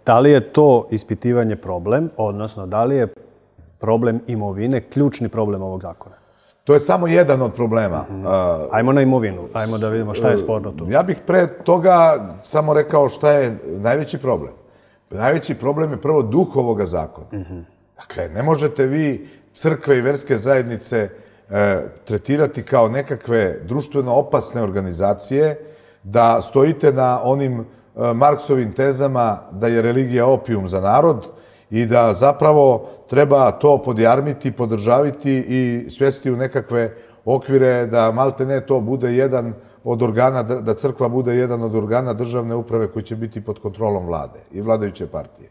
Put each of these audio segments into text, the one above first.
Da li je to ispitivanje problem, odnosno da li je problem imovine ključni problem ovog zakona? To je samo jedan od problema. Ajmo na imovinu, ajmo da vidimo šta je sporno tu. Ja bih pre toga samo rekao šta je najveći problem. Najveći problem je prvo duh ovoga zakona. Dakle, ne možete vi crkve i verske zajednice tretirati kao nekakve društveno opasne organizacije, da stojite na onim Marksovim tezama da je religija opijum za narod i da zapravo treba to podjarmiti, podržaviti i svesti u nekakve okvire da malte ne to bude jedan od organa, da crkva bude jedan od organa državne uprave koji će biti pod kontrolom vlade i vladajuće partije.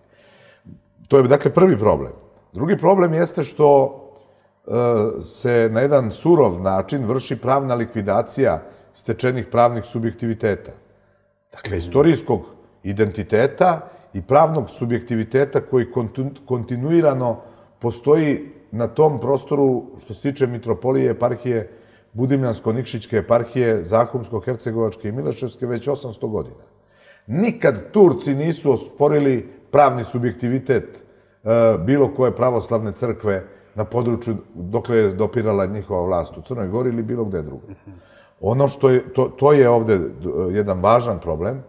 To je dakle prvi problem. Drugi problem jeste što se na jedan surov način vrši pravna likvidacija stečenih pravnih subjektiviteta. Dakle, istorijskog identiteta i pravnog subjektiviteta koji kontinuirano postoji na tom prostoru što se tiče mitropolije, eparhije, Budimljansko-Nikšićke eparhije, Zahumsko-Hercegovačke i Mileševske već 800 godina. Nikad Turci nisu osporili pravni subjektivitet bilo koje pravoslavne crkve na području dokle je dopirala njihova vlast u Crnoj Gori ili bilo gde drugo. Ono što je, to je ovde jedan važan problem.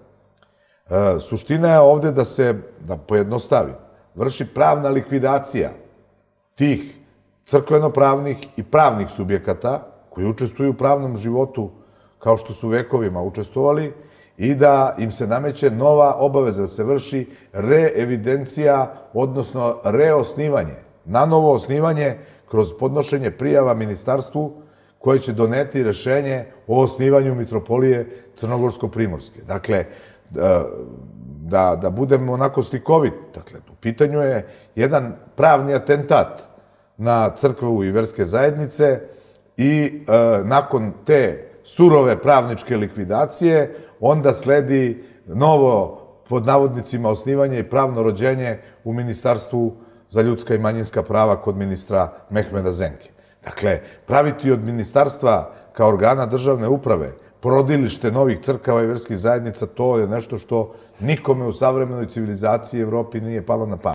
Suština je ovde da se, da pojednostavim, vrši pravna likvidacija tih crkveno-pravnih i pravnih subjekata koji učestvuju u pravnom životu kao što su vekovima učestvovali i da im se nameće nova obaveza da se vrši reevidencija, odnosno reosnivanje, nanovo osnivanje kroz podnošenje prijava ministarstvu koje će doneti rešenje o osnivanju mitropolije Crnogorsko-Primorske. Dakle, da budemo onako slikovit, dakle, u pitanju je jedan pravni atentat na crkvu i verske zajednice i nakon te surove pravničke likvidacije onda sledi novo, pod navodnicima, osnivanje i pravno rođenje u Ministarstvu za ljudska i manjinska prava kod ministra Mehmeda Zenke. Dakle, praviti od ministarstva kao organa državne uprave porodilište novih crkava i verskih zajednica, to je nešto što nikome u savremenoj civilizaciji Evropi nije palo na pamet.